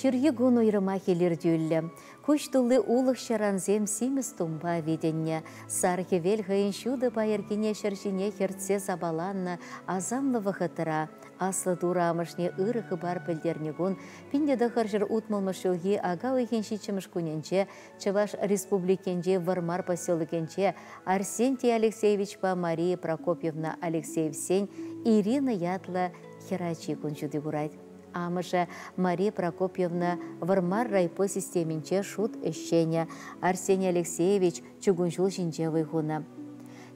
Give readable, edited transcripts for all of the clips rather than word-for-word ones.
Ҫурхи кун уйрӑмах илӗртӳллӗ. Куҫ тулли улӑх-ҫарансем симӗс тумпа витӗннӗ. Сар хӗвел хӑйӗн ҫутӑ пайӑркине ҫӗр ҫине хӗртсе сапаланнӑ асамлӑ вӑхӑтра Аслӑ Турӑ амӑшне ырӑ хыпар пӗлтернӗ кун 1960 ҫулхи ака уйӑхӗн ҫиччӗмӗш кунӗнче Чӑваш Республикинчи Вӑрмар поселокӗнче Арсентий Алексеевичпа Мария Прокопьевна Алексеевсен Ирина ятлӑ хӗрачи кун ҫути курать. Амӑшӗ Мария Прокопьевна Вӑрмар райпо системинче шут ӗҫченӗ, Арсений Алексеевич чукун ҫул ҫинче вӑй хунӑ.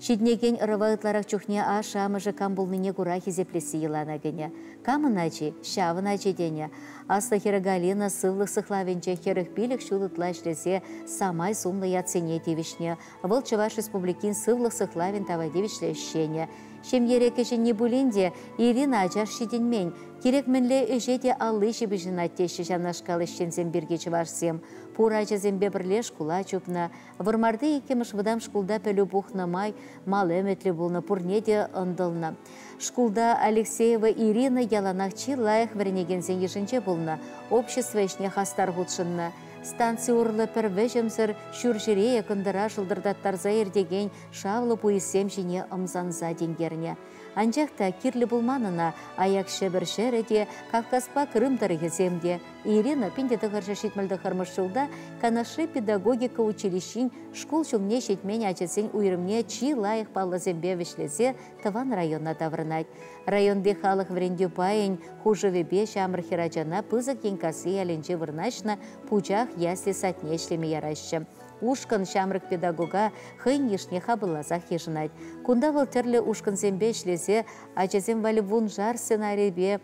Ҫитӗнекен ӑрӑва ытларах чухне ашшӗ-амӑшӗ кам пулнине кура хисеплесси йӑлана кӗнӗ. Камӑн ачи, ҫавӑн ачи тенӗ. Аслӑ хӗрӗ Галина сывлӑх сыхлавӗнче 45 ҫул ытла ӗҫлесе самай сумлӑ ятсене тивӗҫнӗ. Вӑл Чӑваш Республикин сывлӑх сыхлавӗн тава тивӗҫлӗ ӗҫченӗ. Ҫемьере кӗҫӗнни пулин те Ирина ачаш ҫитӗнмен. Кирек мӗнле ӗҫе те алли ҫыпӑҫӑнать теҫҫӗ ҫавнашкал ӗҫченсем пирки чӑвашсем. Пур ачасемпе пӗрле шкула чупнӑ. Вӑрмарти иккӗмӗш вӑтам шкулта пӗлӳ пухнӑ май мал ӗмӗтлӗ пулнӑ, пурне те ӑнтӑлнӑ. Шкулта Алексеева Ирина яланах чи лайӑх вӗренекенсен йышӗнче пулнӑ, общество ӗҫне хастар хутшӑннӑ. Станци урлӑ пӗр вӗҫӗмсӗр ҫурҫӗре кӑнтӑра шӑлтӑртаттарса иртекен шавлӑ пуйӑссем ҫине ӑмсанса тинкернӗ. Анчах та кирлӗ пулман ӑна аяк Ҫӗпӗр ҫӗрӗ те, Кавказпа Крым тӑрӑхӗсем те. Ирина 1979 ҫулта Канашри педагогика училищин шкул ҫумне ҫитмен ачасен уйрӑмне чи лайӑх паллӑсемпе вӗҫлесе тӑван района таврӑнать. Районти халӑх вӗрентӳ пайӗн хушӑвӗпе ҫамрӑк хӗрачана Пысӑк Енккасси ялӗнче вырнаҫнӑ Пучах ясли садне ӗҫлеме яраҫҫӗ. Ушкӑн ҫамрӑк педагога хӑйӗн йышне хапӑлласах йышӑнать. Кунта вӑл тӗрлӗ ушкӑнсемпе ӗҫлесе ачасем валли вуншар сценарипе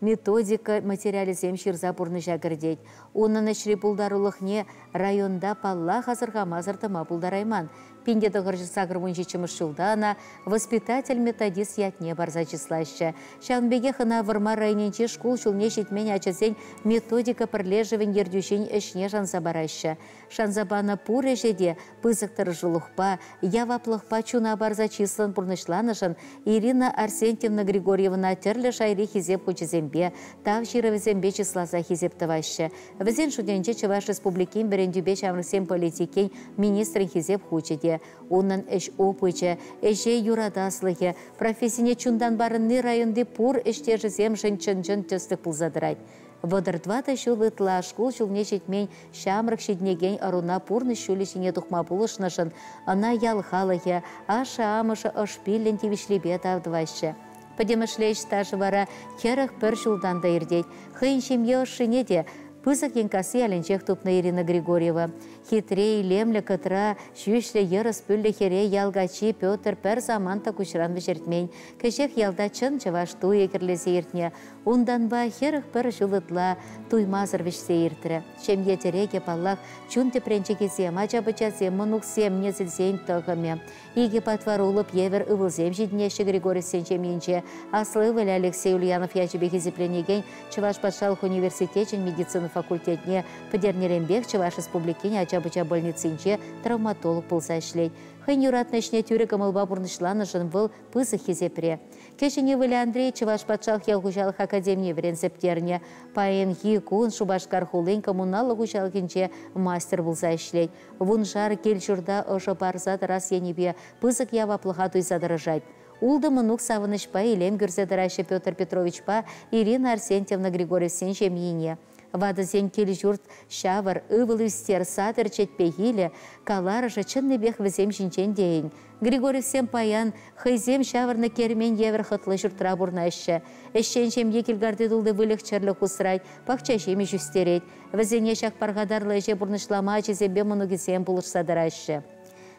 методика материалӗсем ҫырса пурнӑҫа кӗртет. Унӑн ӗҫри пултарулӑхне районта паллах асӑрхамасӑр тӑма пултарайман. 1987 ҫулта ӑна воспитатель-методист ятне парса чыслаҫҫӗ. Ҫавӑн пекех ӑна Вӑрмар районӗнчи шкул ҫулне ҫитмен ачасен методика пӗрлешӗвӗн ертӳҫин ӗҫне шанса параҫҫӗ. Шанса панӑ пур ӗҫе те пысӑк тӑрӑшулӑхпа, яваплӑхпа чуна парса чыслӑн пурнӑҫланӑшӑн Ирина Арсентьевна Григорьевӑна тӗрлӗ шайри хисеп хучӗсемпе, тав ҫырӑвӗсемпе чысласа хисеп тӑваҫҫӗ. Вӗсен шутӗнче Чӑваш Республикин вӗрентӳпе ҫамрӑксен политикин министрӗн хисеп хучӗ те. Унӑн ӗҫ опычӗ, ӗҫе юратаслӑхӗ, профессине чунтан парӑнни районти пур ӗҫтешӗсемшӗн чӑн-чӑн тӗслӗх пулса тӑрать. 34 ҫул ытла шкул ҫулне ҫитмен ҫамрӑк ҫитӗнекен ӑруна пурнӑҫ ҫулӗ ҫине тухма пулӑшнӑшӑн ӑна ял халӑхӗ, ашшӗ-амӑшӗ ӑш-пиллӗн тивӗҫлипе тав тӑваҫҫӗ. Пӗтӗмӗшле ӗҫ стажӗ вара 41 ҫултан та иртет. Хӑйӗн ҫемье ӑшшине те Пысӑк Енккасси ялӗнчех тупнӑ Ирина Григорьева. Хитре, илемлӗ кӑтра ҫӳҫлӗ йӑрӑс пӳллӗ хӗре ял каччи Петр пӗр самант та куҫран вӗҫертмен. Кӗҫех ялта чӑн чӑваш туйӗ кӗрлесе иртнӗ. Унтанпа 41 ҫул ытла туймасӑр вӗҫсе иртрӗ. Ҫемье тӗрекӗ, паллах, чун тӗпренчӗкӗсем, ача-пӑчасем, мӑнуксем, несӗлсен тӑхӑмӗ. Икӗ патвар улӑп евӗр ывӑлсем ҫитӗнеҫҫӗ Григорьевсен ҫемйинче. Аслӑ ывӑлӗ Алексей Ульянов ячӗпе хисепленекен Чӑваш патшалӑх университечӗн медицина факультетне пӗтернӗренпех Чӑваш Республикин ача-пӑча больницинче травматолог пулса ӗҫлет. Хӑйӗн юратнӑ ӗҫне тӳрӗ кӑмӑлпа пурнӑҫланӑшӑн вӑл пысӑк хисепре. Кӗҫӗн ывӑлӗ Андрей Чӑваш патшалӑх ял хуҫалӑх академине вӗренсе пӗтернӗ. Паянхи кун Шупашкар хулин коммуналлӑ хуҫалӑхӗнче мастер пулса ӗҫлет. Вуншар кил-ҫурта ӑшӑ парса тӑрас енӗпе пысӑк яваплӑха туйса тӑрӑшать. Ултӑ мӑнук савӑнӑҫпа илем кӳрсе тӑраҫҫӗ Петр Петровичпа Ирина Арсентьевна Григорьевсен ҫемйине. Ватӑсен кил-ҫурт ҫавӑр, ывӑл ӳстер, сад ӗрчетпе килӗ, каларӑшӗ чӑннипех вӗсем ҫинчен тейӗн. Григорьевсем паян хӑйсем ҫавӑрнӑ кермен евӗр хӑтлӑ ҫуртра пурӑнаҫҫӗ. Ӗҫчен ҫемье килкарти тулли выльӑх-чӗрлӗх усрать, пахча ҫимӗҫ ӳстерет. Вӗсене ҫак пархатарлӑ ӗҫе пурнӑҫлама ачисемпе мӑнукӗсем пулӑшса тӑраҫҫӗ.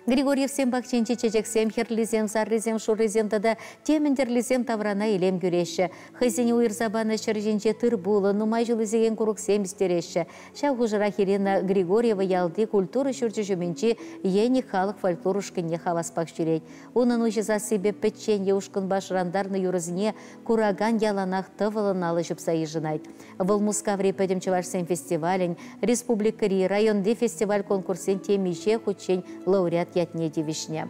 Григорьевсен пахчинчи чечексем, хӗрлисем, саррисем, шуррисем тата темӗн тӗрлисем таврана илем кӳреҫҫӗ. Хӑйсене уйӑрса панӑ ҫӗр ҫинче тыр-пулӑ, нумай ҫул ӳсекен курӑксем ӳстереҫҫӗ. Ҫав хушӑрах Ирина Григорьева ялти культура ҫурчӗ ҫумӗнчи Еник халӑх фольклор ушкӑнне хаваспах ҫӳрет. Унӑн уҫӑ сассипе пӗччен е ушкӑнпа шӑрантарнӑ юрӑсене куракан яланах тӑвӑллӑн алӑ ҫупса йышӑнать. Вӑл Мускаври Пӗтӗм чӑвашсен фестивалӗн, республикӑри, районти фестиваль-конкурссен темиҫе хутчен лауреат ятне тивӗҫнӗ.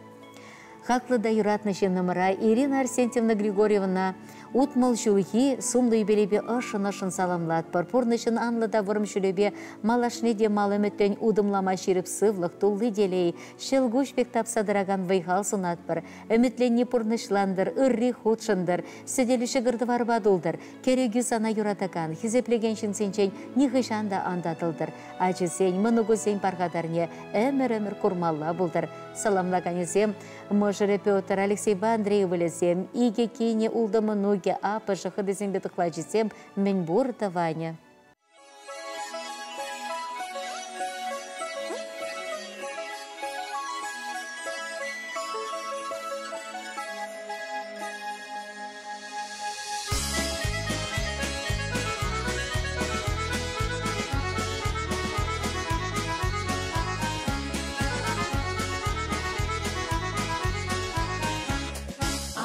Хаклӑ та юратнӑ ҫыннӑмӑра Ирина Арсентьевна Григорьевӑна Утмӑл ҫулхи сумлӑ юбилейпе ӑшшӑн-ӑшшӑн саламлатпӑр. Пурнӑҫӑн анлӑ та вӑрӑм ҫулӗпе малашне те мал ӗмӗтлӗн утӑмлама ҫирӗп сывлӑх, тулли телей, ҫӑлкуҫ пек тапса тӑракан вӑй-хал сунатпӑр. Ӗмӗтленни пурнӑҫлантӑр, ырри хутшӑнтӑр, сӗтелӳ ҫӑкӑр-тӑварпа тултӑр. Кӗрекӳ сана юратакан, хисеплекен ҫынсенчен нихӑҫан та ан татӑлтӑр. Ачисен, мӑнукусен пархатарне ӗмӗр-ӗмӗр курмалла пултӑр. Саламлаканӗсем мӑшӑрӗ Петр, Алексейпа Андрей ывӑлӗсем, икӗ кинӗ, ултӑ мӑнукӗ, аппӑшӗ, хӑтисемпе тӑхлачисем, мӗнпур тӑванӗ.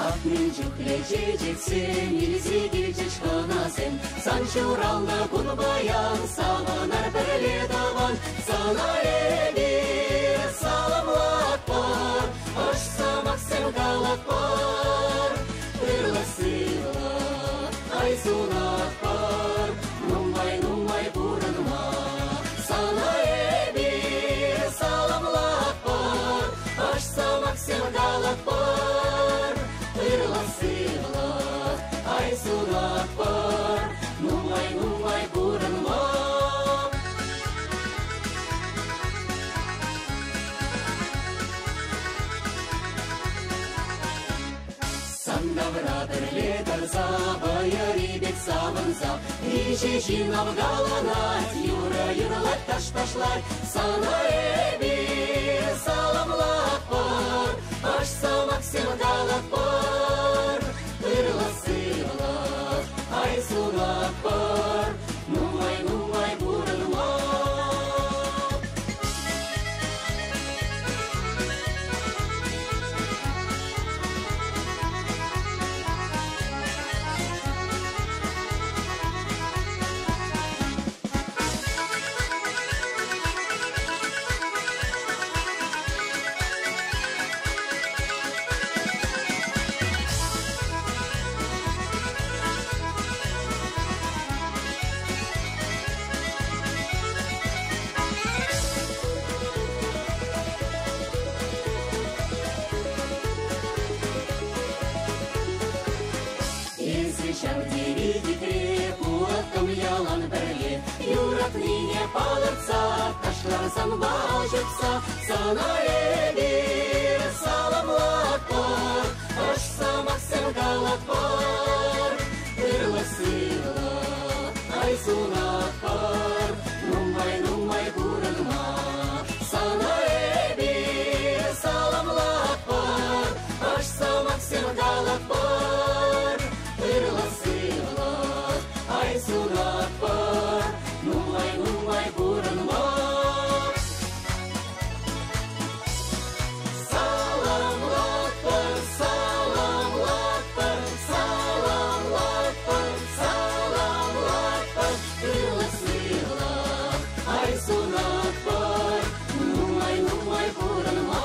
Ах, мӗн чухлӗ чечексем илсе килчӗҫ хӑнасем, Сан ҫуралнӑ кун паян, савӑнар пӗрле тӑван. Сана эпир саламлатпӑр, ӑш сӑмахсем калатпӑр. Ырлӑх-сывлӑх, ай сунатпӑр, нумай-нумай пурӑнма. Сана эпир саламлатпӑр, ӑш сӑмахсем калатпӑр. Ырлӑх-сывлӑх, ай сунатпӑр, нумай-нумай пурӑнма. Сан тавра пӗрле тӑрса, вӑйӑри пек савӑнса, миҫе ҫын авкаланать, юрӑ юрлать, таш ташлать. Сана эпир саламлатпӑр, ӑш сӑмахсем калатпӑр. Ырлӑх-сывлӑх, ай сунатпӑр, нумай-нумай пурӑнма. Эсӗ ҫав тери хитре, пулаттӑм ялан пӗрле. Юратнине палӑртса, ташлар санпа ҫупса. Сана эпир саламлатпӑр, ӑш сӑмахсем калатпӑр. Ырлӑх-сывлӑх, ай сунатпӑр, нумай-нумай пурӑнма. Сана эпир саламлатпӑр, ӑш сӑмахсем калатпӑр. Ырлӑх-сывлӑх, ай сунатпӑр, нумай-нумай пурӑнма. Саламлатпӑр, саламлатпӑр, саламлатпӑр, саламлатпӑр. Ырлӑх-сывлӑх, ай сунатпӑр, нумай-нумай пурӑнма.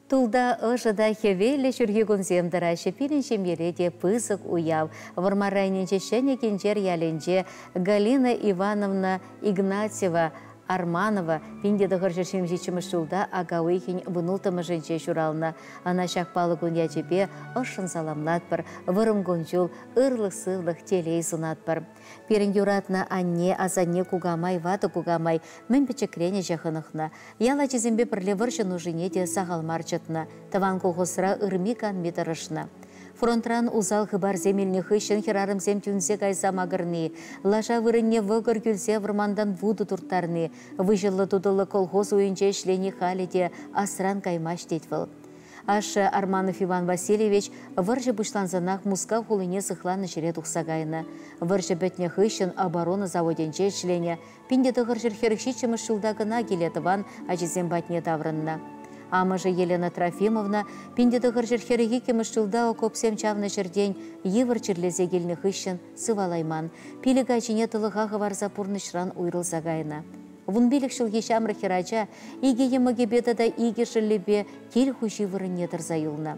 Тулта ӑшӑ та хӗвеллӗ ҫурхи кунсем тӑраҫҫӗ. Пирӗн ҫемьере те пысӑк уяв. Вӑрмар районӗнчи Ҫӗнӗ Кинчер ялӗнче Галина Ивановна Игнатьева Арманова 1977 ҫулта ака уйӑхӗн вунулттӑмӗшӗнче ҫуралнӑ. Ӑна ҫак паллӑ кун ячӗпе ӑшшӑн саламлатпӑр, вӑрӑм кун-ҫул, ырлӑх-сывлӑх, телей сунатпӑр. Пирӗн юратнӑ анне, асанне, кукамай, ватӑ кукамай мӗн пӗчӗкрен ӗҫе хӑнӑхнӑ. Ял ачисемпе пӗрле вӑрҫӑ нушине те сахал мар чӑтнӑ, тӑван колхозра ырми-канми тӑрӑшнӑ. Фронтран усал хыпарсем илнӗ хыҫҫӑн хӗрарӑмсем тӳнсе кайса макӑрни, лаша вырӑнне вӑкӑр кӳлсе вӑрмантан вутӑ турттарни, выҫӑллӑ-тутӑллӑ колхоз уйӗнче ӗҫлени халӗ те асран каймасть тет вӑл. Ашшӗ Арманов Иван Васильевич вӑрҫӑ пуҫлансанах Мускав хулине сыхланӑ ҫӗре тухса кайнӑ. Вӑрҫӑ пӗтнӗ хыҫҫӑн оборона заводӗнче ӗҫленӗ, 1947 ҫулта кӑна киле тӑван ачисем патне таврӑннӑ. Амӑшӗ Елена Трофимовна 1942 ҫулта окопсем чавнӑ ҫӗртен йывӑр чирлесе килнӗ хыҫҫӑн сывалайман, пилӗк ачине тӑлӑха хӑварса пурнӑҫран уйрӑлса кайнӑ. Вунпилӗк ҫулхи ҫамрӑк хӗрача икӗ йӑмӑкӗпе тата икӗ шӑллӗпе кил хуҫи вырӑнне тӑрса юлнӑ.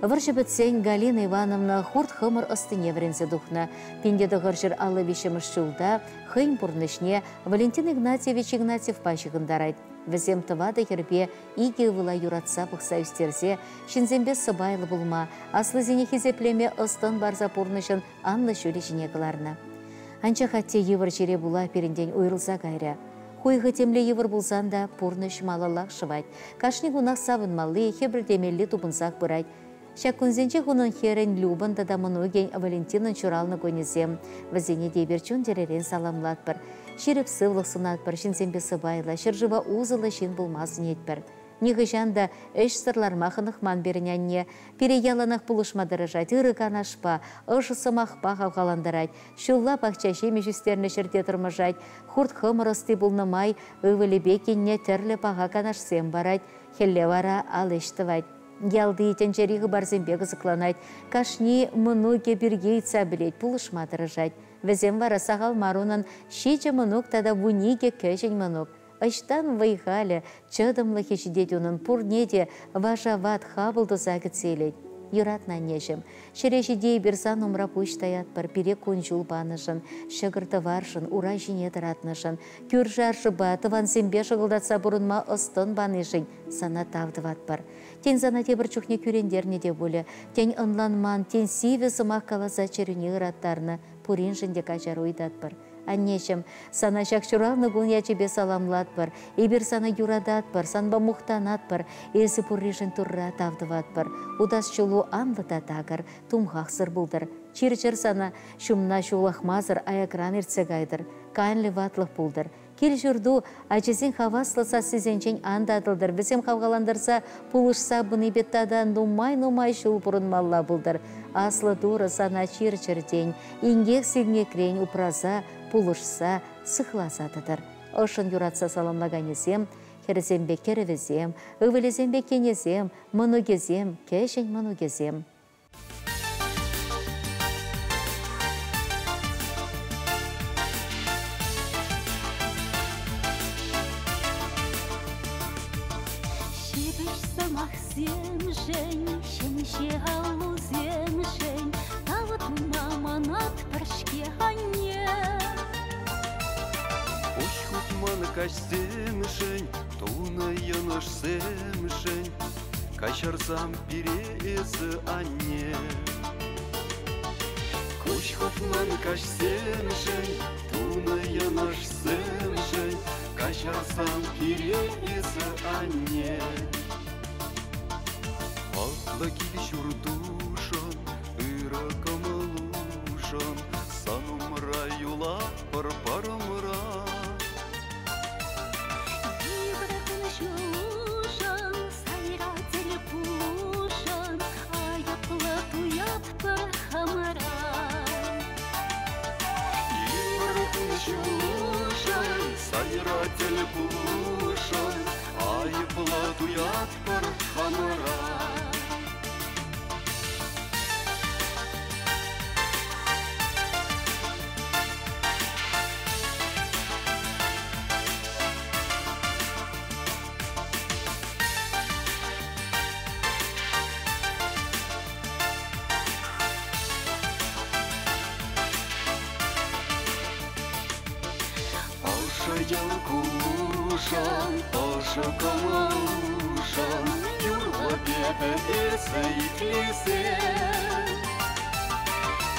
Вӑрҫӑ пӗтсен Галина Ивановна хурт-хӑмӑр ӑстине вӗренсе тухнӑ. 1953 ҫулта хӑйӗн пурнӑҫне Валентин Игнатьевич Игнатьевпа ҫыхӑнтарать. Вӗсем тӑватӑ хӗрпе икӗ ывӑла юратса пӑхса ӳстерсе ҫынсемпе сӑпайлӑ пулма, аслисене хисеплеме ӑс-тӑн парса пурнӑҫӑн анлӑ ҫулӗ ҫине кӑларнӑ. Анчах атте йывӑр чире пула пирӗнтен уйрӑлса кайрӗ. Хуйхӑ темле йывӑр пулсан та пурнӑҫ малаллах шӑвать. Кашни кунах савӑнмалли, хӗпӗртемелли тупӑнсах пырать. Ҫак кунсенчех унӑн хӗрӗн Любӑн тата мӑнукӗн Валентинӑн ҫуралнӑ кунӗсем. Вӗсене те эпир чун-чӗререн саламлатпӑр. Ҫирӗп сывлӑх сунатпӑр, ҫынсемпе сӑпайлӑ, ҫӗршыва усӑллӑ ҫын пулма сӗнетпӗр. Нихӑҫан та ӗҫсӗр ларма хӑнӑхман пирӗн анне. Пире яланах пулӑшма тӑрӑшать, ырӑ канашпа, ӑшӑ сӑмахпа хавхалантарать. Ҫулла пахча ҫимӗҫ ӳстернӗ ҫӗрте тӑрмӑшать. Хурт-хӑмӑр ӑсти пулнӑ май ывӑлӗпе кинне тӗрлӗ паха канашсем парать. Хӗлле вара ал ӗҫ тӑвать. Ялти тӗнчери хыпарсемпе кӑсӑкланать. Кашни мӑнукӗ пирки ыйтса пӗлет, пулӑшма тӑрӑшать. Вӗсем вара сахал мар унӑн ҫичӗ мӑнук тата 12 кӗҫӗн мӑнук. Ӑҫтан вӑй-халӗ, чӑтӑмлӑхӗ ҫитет унӑн пурне те вашават хапӑл туса кӗтсе илет. Юратнӑ аннеҫӗм, ҫӗре ҫити эпир сан умра пуҫ таятпӑр, пире кун-ҫул панӑшӑн, ҫӑкӑр-тӑваршӑн, ура ҫине тӑратнӑшӑн, кӳршӗ-аршӑпа, тӑвансемпе шӑкӑлтатса пурӑнма ӑс-тӑн панишӗн сана тав тӑватпӑр. Тен, сана тепӗр чухне кӳрентернӗ те пулӗ, тен, ӑнланман, тен, сивӗ сӑмах каласа чӗрӳне ыраттарнӑ, пуриншӗн те каҫару ыйтатпӑр. Аннеҫӗм, сана ҫак ҫуралнӑ кун ячӗпе саламлатпӑр. Эпир сана юрататпӑр, санпа мухтанатпӑр. Эсӗ пурришӗн Турра тав тӑватпӑр. Утас ҫулу анлӑ та такӑр, тумхахсӑр пултӑр. Чир-чӗр сана ҫумна ҫулӑхмасӑр аякран иртсе кайтӑр. Канлӗ ватлӑх пултӑр. Кил-ҫурту ачасен хаваслӑ сассисенчен ан татӑлтӑр. Вӗсем хавхалантарса пулӑшса пынипе тата нумай-нумай ҫул пурӑнмалла пултӑр. Аслӑ Турӑ сана чир-чӗртен, инкек-синкекрен упраса, пулӑшса, сыхласа тӑтӑр. Ӑшшӑн юратса саламлаканӗсем, хӗрӗсемпе кӗрӗвӗсем, ывӑлӗсемпе кинӗсем, мӑнукӗсем, кӗҫӗн мӑнукӗсем. Ҫепӗҫ сӑмахсемшӗн, ҫемҫе аллусемшӗн тав тума манатпӑр-ҫке анне. Куҫ хупман каҫсемшӗн, тунӑ йӑнӑшсемшӗн каҫарсам пире эсӗ, анне. Куҫ хупман каҫсемшӗн, тунӑ йӑнӑшсемшӗн каҫарсам пире эсӗ, анне. Хаклӑ кил-ҫуртушӑн, ырӑ кӑмӑлушӑн сан умра юлатпӑр парӑмра. Йывӑр кун-ҫулшӑн, сайра тӗл пулушӑн айӑплӑ туятпӑр хамӑра. Йывӑр кун-ҫулшӑн, сайра тӗл пулушӑн айӑплӑ туятпӑр хамӑра. Ӑшӑ йӑл кулушӑн, ӑшӑ кӑмӑлушӑн юрлӑп эпӗ эсӗ итлесе.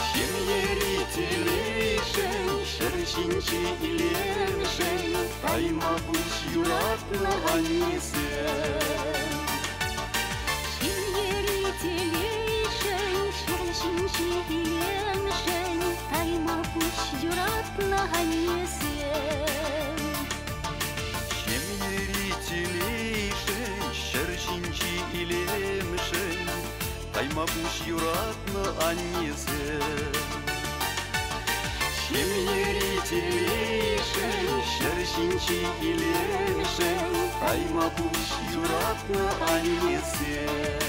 Ҫемьери телейшӗн, ҫӗр ҫинчи илемшӗн тайма пуҫ юратнӑ аннесем. Ҫемьери телейшӗн, ҫӗр ҫинчи илемшӗн тайма пуҫ юратнӑ аннесем. Ҫемьери телейшӗн, ҫӗр ҫинчи илемшӗн тайма пуҫ юратнӑ аннесем. Ҫемьери телейшӗн, ҫӗр ҫинчи илемшӗн тайма пуҫ юратнӑ аннесем.